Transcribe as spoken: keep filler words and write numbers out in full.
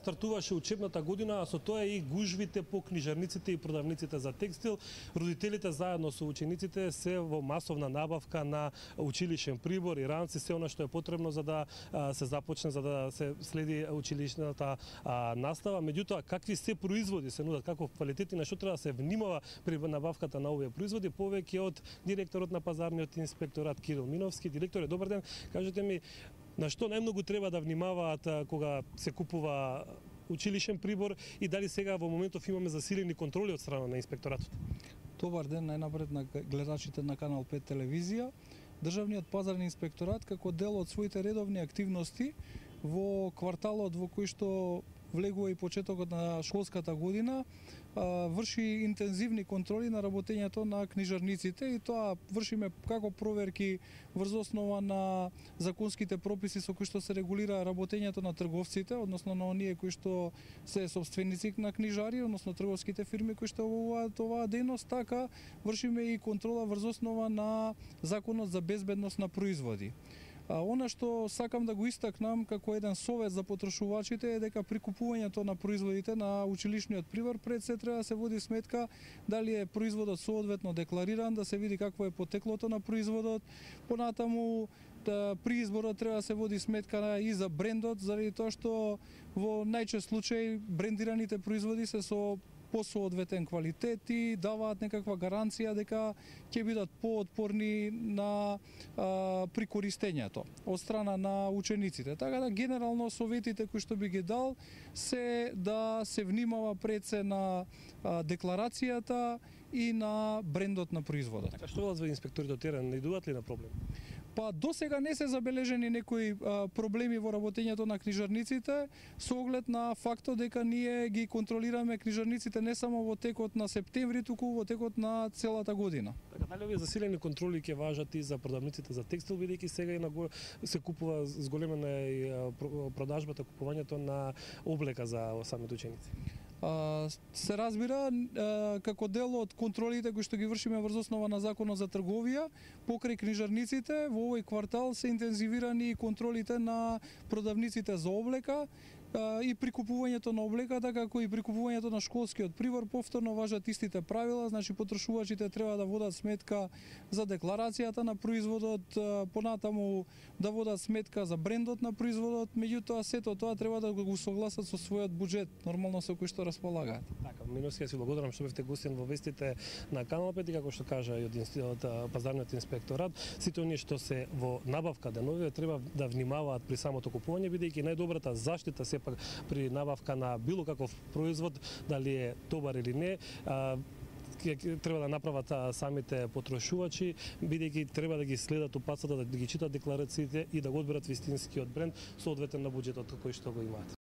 стартуваше учебната година, а со тоа и гужвите по книжарниците и продавниците за текстил. Родителите заедно со учениците се во масовна набавка на училишен прибор и ранци, се она што е потребно за да се започне, за да се следи училишната настава. Меѓутоа, какви се производи се нудат, каков квалитет и на што треба да се внимава при набавката на овие производи, повеќе од директорот на пазарниот инспекторат Кирил Миновски. Директоре, добар ден. Кажете ми, на што најмногу треба да внимаваат кога се купува училишен прибор и дали сега во моментов имаме засилени контроли од страна на инспекторатот? Добар ден најнапред на гледачите на Канал пет телевизија. Државниот пазарни инспекторат како дел од своите редовни активности во кварталот во кој што влегува и почетокот на школската година, врши интензивни контроли на работењето на книжарниците и тоа вршиме како проверки врз основа на законските прописи со кои што се регулира работењето на трговците, односно на оние кои што се собственици на книжари, односно трговските фирми кои што обавуваат оваа дејност, така вршиме и контрола врз основа на Законот за безбедност на производи. А она што сакам да го истакнам како еден совет за потрошувачите е дека при купувањето на производите на училишниот прибор пред се треба да се води сметка дали е производот соодветно деклариран, да се види какво е потеклото на производот. Понатаму да, при изборот треба да се води сметка и за брендот, заради тоа што во најчест случај брендираните производи се со посоодветен квалитет и даваат некаква гаранција дека ќе бидат поотпорни на а, при користењето од страна на учениците. Така да генерално советите кои што би ги дал се да се внимава пред се на а, декларацијата и на брендот на производот. Така што велат инспекторите од терен, не идуваат ли на проблем? Па до сега не се забележени некои а, проблеми во работењето на книжарниците со оглед на фактот дека ние ги контролираме книжарниците не само во текот на септември, туку во текот на целата година. Така, дали овие засилени контроли ќе важат и за продавниците за текстил, бидејќи сега и на го... се купува зголемена и продажбата, купувањето на облека за самите ученици? Uh, се разбира uh, како дел од контролите кои што ги вршиме врз основа на Законот за трговија покрај книжарниците, во овој квартал се интензивирани контролите на продавниците за облека uh, и при купувањето на облеката, како и при купувањето на школскиот прибор. Повторно важат истите правила, значи потрошувачите треба да водат сметка за декларацијата на производот, uh, понатаму да водат сметка за брендот на производот, меѓутоа сето тоа треба да го согласат со својот буџет, нормално со кој што располагаат. Така, Миновски, ја си благодарам што бевте гостин во вестите на Канал пет и како што кажа и од, од пазарниот инспекторат, сите оние што се во набавка денови треба да внимаваат при самото купување, бидејќи најдобрата заштита сепак при набавка на било каков производ, дали е добар или не, а, треба да направат самите потрошувачи, бидејќи треба да ги следат упатствата, да ги читат декларациите и да го одберат вистинскиот бренд соодветен на буџетот кој што го имаат.